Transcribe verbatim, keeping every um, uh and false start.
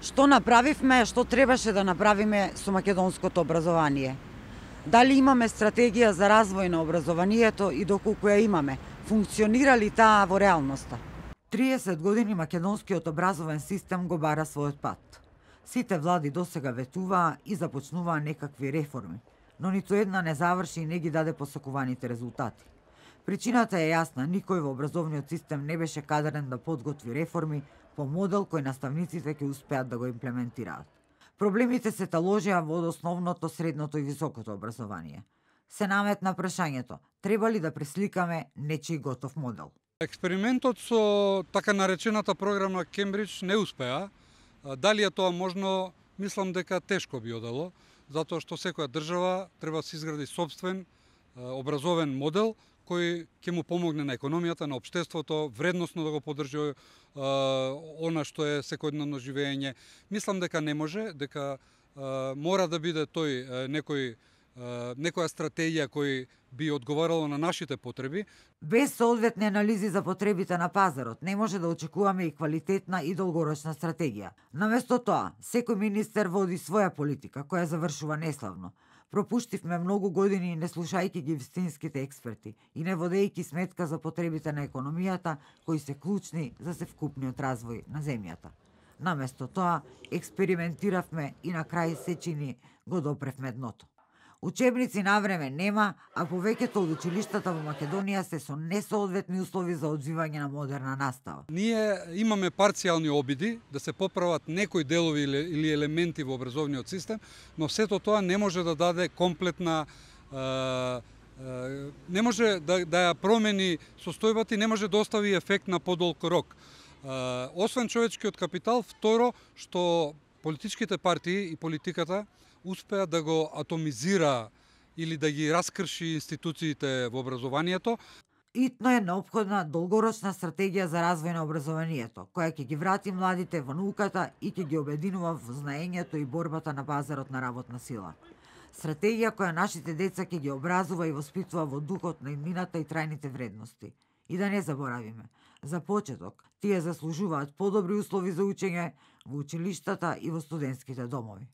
Што направивме, што требаше да направиме со македонското образование? Дали имаме стратегија за развој на образованието и доколку ја имаме, функционира ли таа во реалноста? триесет години македонскиот образовен систем го бара својот пат. Сите влади досега ветуваа и започнуваа некакви реформи, но ниту една не заврши и не ги даде посакуваните резултати. Причината е јасна, никој во образовниот систем не беше кадарен да подготви реформи по модел кој наставниците ќе успеат да го имплементираат. Проблемите се таложија во основното, средното и високото образование. Се наметна прашањето, треба ли да пресликаме нечиј готов модел? Експериментот со така наречената програма Кембридж не успеа. Дали е тоа можно, мислам дека тешко би одело, затоа што секоја држава треба да се изгради собствен образовен модел кој ќе му помогне на економијата, на општеството, вредносно да го поддржи е, она што е секојдневно живење. Мислам дека не може, дека е, мора да биде тој е, некој е, некоја стратегија кој би одговарало на нашите потреби. Без соодветни анализи за потребите на пазарот не може да очекуваме и квалитетна и долгорочна стратегија. Наместо тоа, секој министер води своја политика која завршува неславно. Пропуштивме многу години не слушајќи ги вистинските експерти и не водејќи сметка за потребите на економијата кои се клучни за севкупниот развој на земјата. Наместо тоа, експериментиравме и на крај се чини го допревме дното. Учебници на време нема, а повеќето од училиштата во Македонија се со несоодветни услови за одвивање на модерна настава. Ние имаме парцијални обиди да се поправат некои делови или елементи во образовниот систем, но сето тоа не може да даде комплетна не може да, да ја промени состојбата и не може да остави ефект на подолг рок. Освен човечкиот капитал, второ, што политичките партии и политиката успеа да го атомизира или да ги раскрши институциите во образованието. Итно е неопходна долгорочна стратегија за развој на образованието, која ќе ги врати младите во науката и ќе ги обединува во знаењето и борбата на пазарот на работна сила. Стратегија која нашите деца ќе ги образува и воспитува во духот на иднината и трајните вредности. И да не заборавиме, за почеток, тие заслужуваат подобри услови за учење во училиштата и во студентските домови.